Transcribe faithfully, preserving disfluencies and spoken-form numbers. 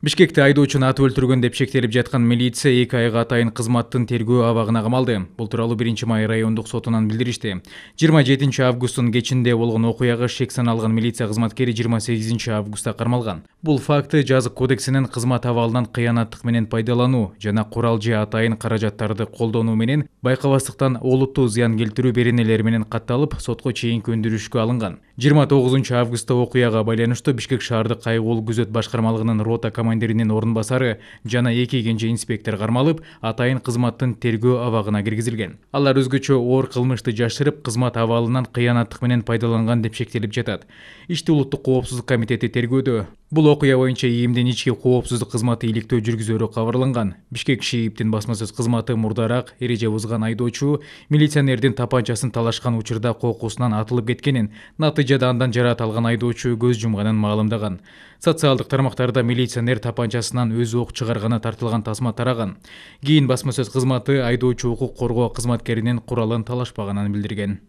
Бишкекте айдоочуну атып өлтүргөн деп шектелип жаткан милиция эки айга атайын кызматтын тергөө абагына камалды. Бул тууралуу биринчи май райондук сотунан билдиришти. жыйырма жетинчи августтун кечинде болгон окуяга шек саналган милиция кызматкери жыйырма сегизинчи августта кармалган. Бул факты жазык кодексинин кызмат абалынан кыянаттык менен пайдалануу жана курал же атайын каражаттарды колдонуу менен байкабастыктан олуттуу зыян келтирүү беренелери менен катталып, сотко чейинки өндүрүшкө алынган. жыйырма тогузунчу августта окуяга байланыштуу Бишкек шаардык кайгылуу күзөт башкармалыгынын рота командиринин орун басары жана эки кенже инспектор кармалып, атайын кызматтын тергөө абагына киргизилген. Алар өзгөчө оор кылмышты жашырып, кызмат абалынан кыянаттык менен пайдаланган деп шектелип жатат. Ишти улуттук коопсуздук комитети тергөөдө. Бул окуя боюнча ИИМдин ички коопсуздук кызматы иликтөө жүргүзөрү кабарланган. Бишкек ШИИБдин басма сөз кызматы мурдараак эреже бузган айдоочу милиционердин тапанчасын талашкан учурда кокусунан атылып кеткенин, натыйжада андан жараат алган айдоочу көз жумганын маалымдаган. Социалдык тармактарда милиционер тапанчасынан өз ок чыгарганы тартылган тасма тараган. Кийин басма сөз кызматы айдоочу укук коргоо кызматкеринин куралын талашпаганын билдирген.